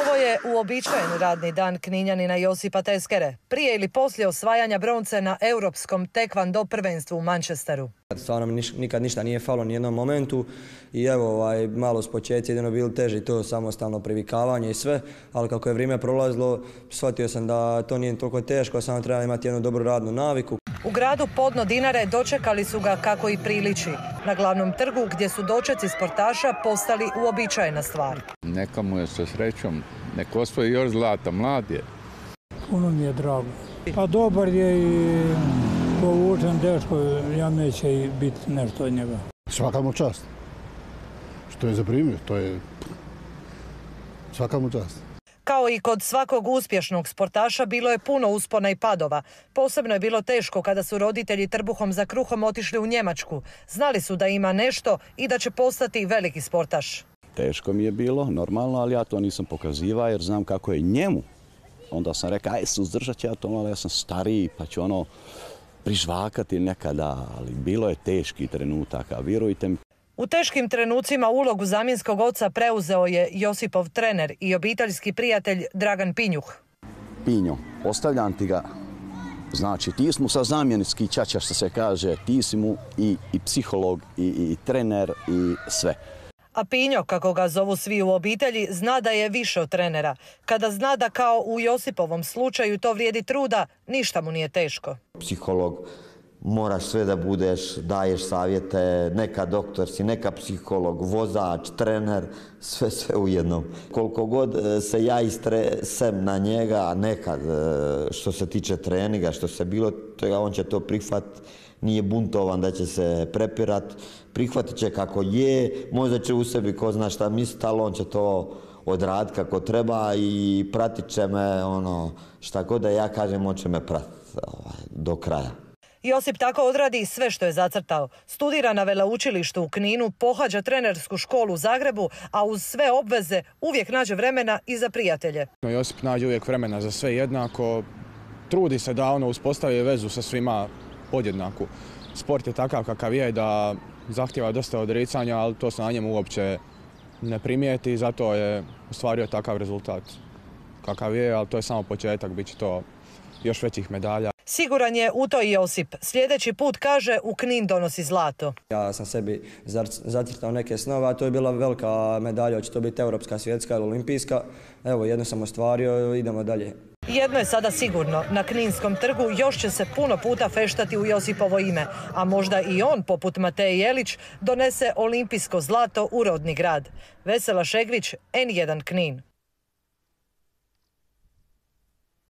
Ovo je uobičajen radni dan Kninjanina Josipa Teskere, prije ili poslije osvajanja bronce na europskom tekvando prvenstvu u Manchesteru. Stvarno mi nikad ništa nije falo ni jednom momentu i evo malo s početci jedino bilo teži to samostalno privikavanje i sve, ali kako je vrijeme prolazilo shvatio sam da to nije toliko teško, samo treba imati jednu dobru radnu naviku. U gradu Podno Dinare dočekali su ga kako i priliči, na glavnom trgu gdje su dočeci sportaša postali uobičajena stvar. Neka mu je sa srećom, neko osvoji još zlata, mlad je. Puno mi je drago. Pa dobar je i povučen dečko, ja neće i biti nešto od njega. Svaka mu čast. Što je zaprimio, to je svaka mu čast. Kao i kod svakog uspješnog sportaša bilo je puno uspona i padova. Posebno je bilo teško kada su roditelji trbuhom za kruhom otišli u Njemačku. Znali su da ima nešto i da će postati veliki sportaš. Teško mi je bilo, normalno, ali ja to nisam pokazivao jer znam kako je njemu. Onda sam rekao, aj suzdržat ću ja to, ali ja sam stariji pa ću prižvakati nekada, ali bilo je teški trenutaka, vjerujte mi. U teškim trenucima ulogu zamjenskog oca preuzeo je Josipov trener i obiteljski prijatelj Dragan Pinjuh. Pinjo, ostavljam ti ga, znači ti si mu sa zamjenski ćaća što se kaže, ti si mu i psiholog i trener i sve. A Pinjo, kako ga zovu svi u obitelji, zna da je više od trenera. Kada zna da kao u Josipovom slučaju to vrijedi truda, ništa mu nije teško. Psiholog, moraš sve da budeš, daješ savjete, neka doktor si, neka psiholog, vozač, trener, sve u jednom. Koliko god se ja istresem na njega, nekad što se tiče treninga, što se bilo, on će to prihvatiti. Nije buntovan da će se prepirat, prihvatit će kako je, možda će u sebi ko zna šta misliti, ali on će to odraditi kako treba i pratit će me, šta god da ja kažem, on će me pratiti do kraja. Josip tako odradi sve što je zacrtao. Studira na veleučilištu u Kninu, pohađa trenersku školu u Zagrebu, a uz sve obveze uvijek nađe vremena i za prijatelje. Josip nađe uvijek vremena za sve jednako, trudi se da uspostavi vezu sa svima podjednaku. Sport je takav kakav je da zahtjeva dosta odricanja, ali to se na njemu uopće ne primijeti i zato je ostvario takav rezultat kakav je, ali to je samo početak, bit će to još većih medalja. Siguran je u to i Josip. Sljedeći put, kaže, u Knin donosi zlato. Ja sam sebi zacrtao neke snove, a to je bila velika medalja, hoće to biti europska, svjetska ili olimpijska. Evo, jedno sam ostvario, idemo dalje. Jedno je sada sigurno, na Kninskom trgu još će se puno puta feštati u Josipovo ime, a možda i on, poput Mateje Jelić, donese olimpijsko zlato u rodni grad. Vesela Šegvić, N1 Knin.